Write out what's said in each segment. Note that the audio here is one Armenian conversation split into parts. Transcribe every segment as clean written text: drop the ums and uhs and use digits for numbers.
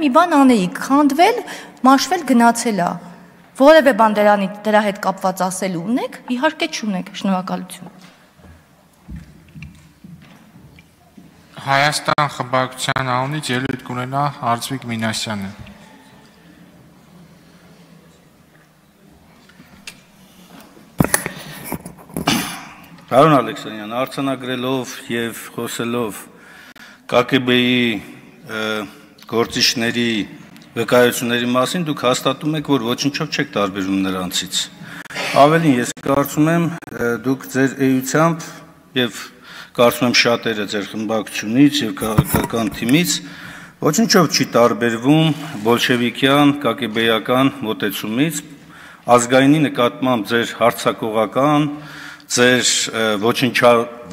մի բան անեիք, խանդվել, մաշվել, գնացել է։ Որևէ բան դրա հետ կապված ասելու ունեք, իհարկե չունեք, շնորհակալություն։ Հայաստան խմբակցության անունից ելույթ կունենա Արծվիկ Մինասյանը։ Պարոն Ալեքսանյան, արձանագրելով եւ խոսելով ԿԿԲ-ի գործիչների վկայությունների մասին, դուք հաստատում եք, որ ոչնչով չեք տարբերում նրանցից։ Ավելին, ես կարծում եմ, դուք ձեր էությամբ եւ կարծում եմ շատերը ձեր խմբակցությունից եւ քաղաքական թիմից ոչնչով չի տարբերվում բոլշևիկյան ԿԿԲ-ական մոտեցումից, ազգայինի նկատմամբ ձեր հարձակողական, ձեր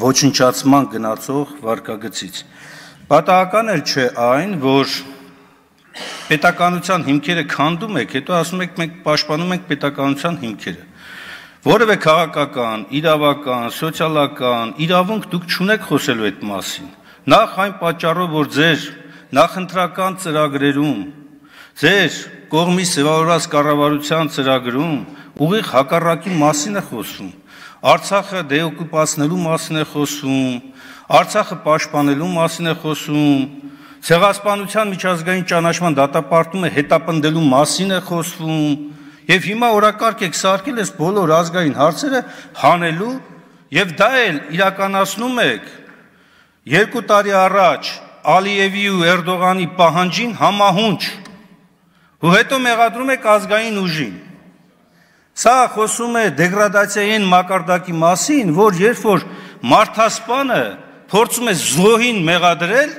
ոչնչացման գնացող վարկագծից։ Պատահական էլ չէ այն, որ պետականության հիմքերը քանդում եք, հետո ասում եք մենք պաշտպանում ենք պետականության հիմքերը։ Որևէ քաղաքական, իրավական, սոցիալական իրավունք դուք չունեք խոսելու այդ մասին։ Նախ այն պատճառով, որ ձեր նախընտրական ծրագրերում, ձեր կողմից ձևավորված կառավարության ծրագրում ուղիղ հակառակի մասին է խոսում։ Արցախը դեօկուպացնելու մասին է խոսում, Արցախը պաշտպանելու մասին է խոսում, ցեղասպանության միջազգային ճանաչման դատապարտումը հետապնդելու մասին է խոսվում, եւ հիմա օրակարգ եք սարքել այս բոլոր ազգային հարցերը հանելու եւ դա էլ իրականացնում եք 2 տարի առաջ Ալիևի ու Էրդողանի պահանջին համահունչ ու հետո մեղադրում եք ազգային ուժին։ Սա խոսում է դեգրադացիայի այն մակարդակի մասին, որ երբ որ մարդասպանը փորձում է զոհին մեղադրել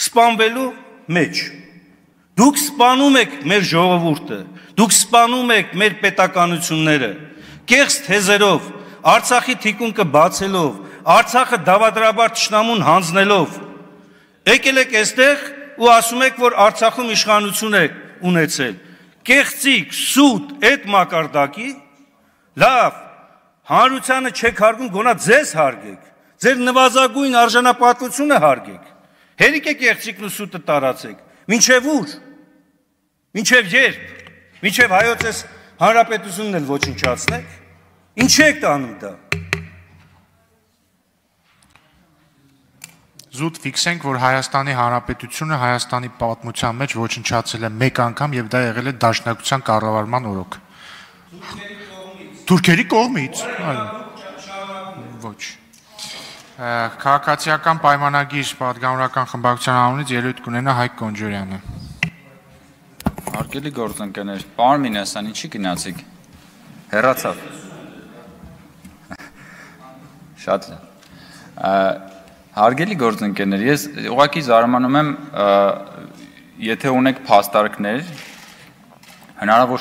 սպանվելու մեջ։ Դուք սպանում եք մեր ժողովուրդը, դուք սպանում եք մեր պետականությունները, կեղծ թեզերով, Արցախի թիկունքը բացելով, Արցախը դավադրաբար թշնամուն հանձնելով, եկել եք այստեղ ու ասում եք, որ Արցախում իշխանություն եք ունեցել։ Կեղծիկ, սուտ այդ մակարդակի, լավ, հանրությանը չեք հարգում, գոնա ձեզ հարգեք, ձեր նվազագույն արժանապատվությունը հարգեք, հերիք է կեղծիկն ու սուտը տարածեք, մինչև ուր, մինչև երբ, մինչև հայոց ես հանրապետությունն էլ ոչնչացնեք, ինչ եք տանում դա։ Զուտ ֆիքսենք, որ Հայաստանի Հանրապետությունը Հայաստանի պատմության մեջ ոչնչացել է մեկ անգամ եւ դա եղել է դաշնակցության կառավարման օրոք։ Թուրքերի կողմից։ Ոչ։ Քաղաքացիական պայմանագիր պատգամավորական խմբակցության անունից ելույթ կունենա Հայկ Կոնջորյանը։ Հարգելի գործընկերներ, պարոն Մինասյան, ինչի գնացիք։ Հեռացավ։ Շատ լավ։ Հարգելի գործընկերներ, ես ուղղակի զարմանում եմ, եթե ունեք փաստարկներ, հնարավոր